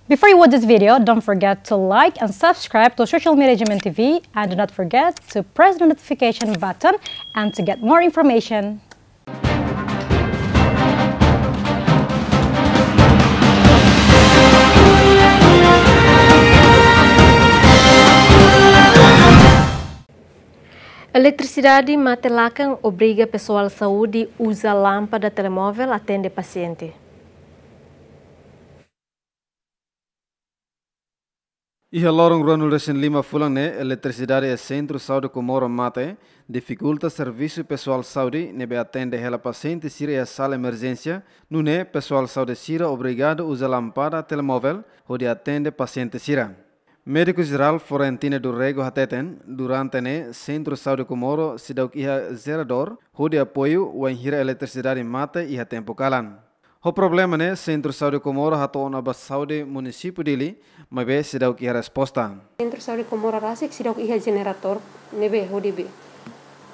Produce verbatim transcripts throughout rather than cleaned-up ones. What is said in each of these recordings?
Before you watch this video, don't forget to like and subscribe to Social Media G M N T V, and do not forget to press the notification button and to get more information. Eletrisidade mate lakan obriga pesoál saúde uza lámpada telemóvel atende pasiente. Iha loron ruanulu-resin-lima fulan ne'e, eletrisidade iha Sentru Saúde Comoro mate, difikulta servisu pesoál saúde ne'ebé atende hela pasiente sira iha sala emerjénsia, nune'e pesoál saúde sira obrigadu uza lámpada telemóvel hodi atende pasiente sira. Médiku Jerál Florentino do Rego hateten, durante ne'e Sentru Saúde Comoro seidauk iha jeradór hodi apoiu wainhira eletrisidade mate iha tempu kalan. Ho problema ne'e, Sentru Saúde Comoro hato'o ona ba Saúde Munisípiu Dili, maibé seidauk iha resposta. Sentru Saúde Comoro rasik seidauk iha jeneradór ne'ebé hodi be,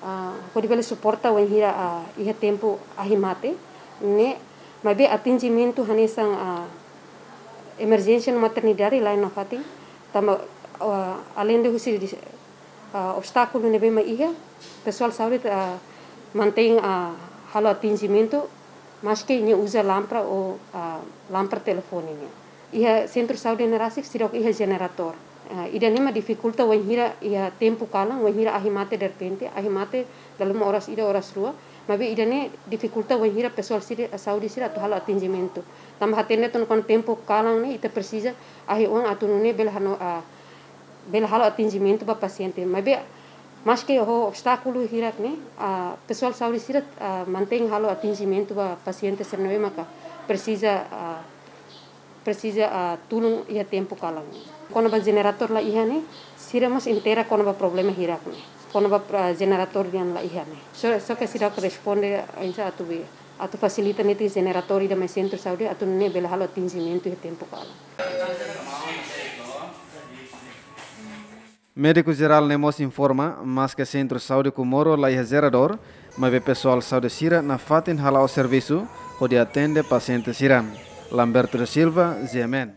ah, hodi bele suporta wainhira, ah, iha tempu ahi mate ne'e, maibé atendimentu hanesan, ah, emerjénsia no maternidade la'en nafatin, tanba, ah, aleinde husi di, ah, obstákulu ne'ebé mak iha, pesoál saúde, ah, mantein, ah, halo atendimentu, maske nia uza lámpada ou, ah, lámpada telefone nian. Iha Sentru Saúde ne'e rasik seidauk iha jeneradór. Ah, ida-ne'e mak difikulta wainhira iha tempu kalan, wainhira ahi mate derrepente, ahi mate dala ruma oras ida oras rua, maibé ida-ne'e difikulta wainhira pesoál sira, saúde sira atu halo atendimentu. Tanba hatene tun kuandu tempu kalan ne'e ita presiza ahi-oan atu nune'e bele hano, ah, bele halo atendimentu ba pasiente. Maibé, maske ho obstákulu hirak ne'e, ah, pesoál saúde sira, ah, mantein halo atendimentu ba pasiente sira ne'ebé maka presiza, ah, presiza, ah, tulun iha tempu kalan. Kona-ba jeneradór la iha ne'e, sira mós inteira kona-ba problema hirak ne'e. Kona-ba, ah, jeneradór nian la iha ne'e. Só, só ke seidauk responde, ah, insa atu be, atu fasilita netik jeneradór ida mai Sentru Saúde, atu nune'e bele halo atendimentu iha tempu kalan. Médiku Jerál ne'e mós informa, maske Sentru Saúde Comoro la iha jeradór, maibé pesoál saúde sira nafatin hala'o servisu hodi atende pasiente sira. Lamberto da Silva, G M N.